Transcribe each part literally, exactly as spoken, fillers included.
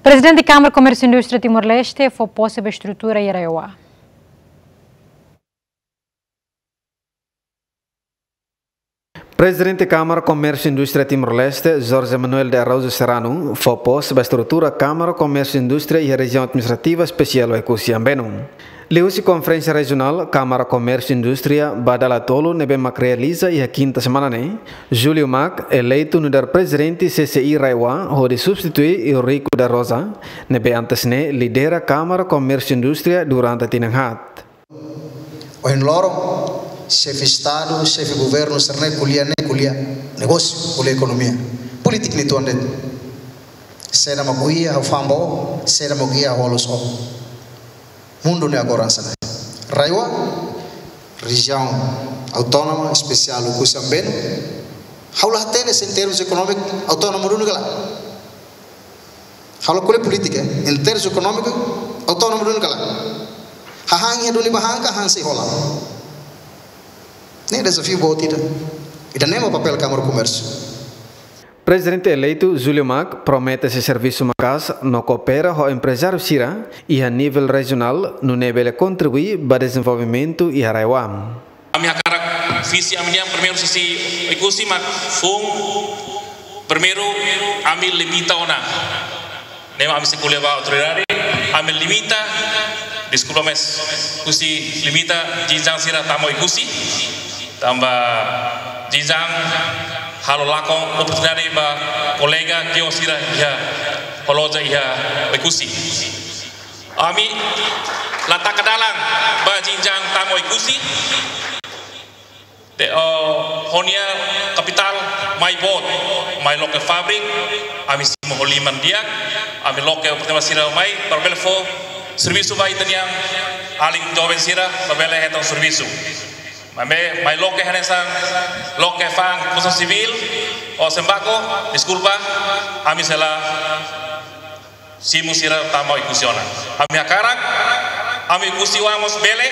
Prezidente Kámara Komérsiu Indústria Timor-Leste fó pose ba estrutura iha RAEOA. Prezidente Kámara Komérsiu Indústria Timor-Leste, Jorge Manuel de Araújo Serrano, fó pose ba estrutura Kámara Komérsiu Indústria iha Rejiaun Administrativa Espesiál Oekusi Ambeno. Liuhusi konferénsia rejionál Kámara Komérsiu Indústria ba dala tolu ne'ebé mak realiza iha kinta semana ne'e, Júlio Mak eleitu nu'udar prezidente C C I RAEOA hodi substitui Eurico da Rosa, ne'ebé antes ne'e lidera Kámara Komérsiu Indústria durante tinan haat. Ohin loron, xefe Estadu, xefe Governu, sira-ne'e ko'alia, ne'e ko'alia negósiu, ko'alia ekonomia. Polítika ne'e tuan de'it. Saida mak ko'alia, ha'u fa'an ba ó, saida mak ko'alia, ha'u halo só. Mundu ne'e agora hanesan ne'e. RAEOA, Rejiaun Autónoma Espesiál Oekusi Ambeno, ha'u la hatene se em termos ekonómiku autónoma duni ka lae. Ha'u la ko'alia polítika, em termos ekonómiku autónoma duni ka lae. Hahán iha duni ba han ka han sei hola. Ne'e dezafiu boot ida. Ida-ne'e mak papél Kámara Komérsiu. Prezidente eleitu Júlio Mak promete sei servisu maka'as no koopera ho emprezáriu sira iha nivel rejionál nune'e bele kontribui ba dezenvolvimentu iha RAEOA. Ami hakarak visi ami-nian primeiru sisi Oekusi mak foun primeiru ami limita ona. Ne'e mak ami sei ko'alia ba autoridade, ami limita, deskulpa maibé, husi limita jinjang sira tama Oekusi, tanba jinjang halo lakon oportunidade ba kolega kios sira iha, ho loja iha Oekusi. Ami la taka dalan ba jinjang tama Oekusi. De'it, oh, ho nia kapitál mai boot, mai loke fábrika, ami simu ho liman di'ak, ami loke oportunidade sira mai, para bele fó servisu ba ita-nia alin joven sira, para bele hetan servisu. Maibé, mai loke hanesan, loke fa'an konstrusaun sivíl, ou sembako, deskulpa, ami sei la simu sira tama Oekusi ona. Ami hakarak, ami Oekusi-oan mós bele,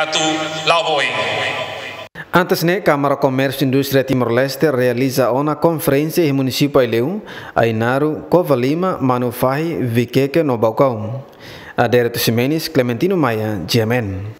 atu la'o ba oin. Antes ne'e, Kámara Komérsiu Indústria Timor-Leste realiza ona konferénsia iha munisípiu Aileu, Ainaro, Covalima, Manufahi, Viqueque no Baucau. Adérito Ximenes, Clementino Maia, G M N.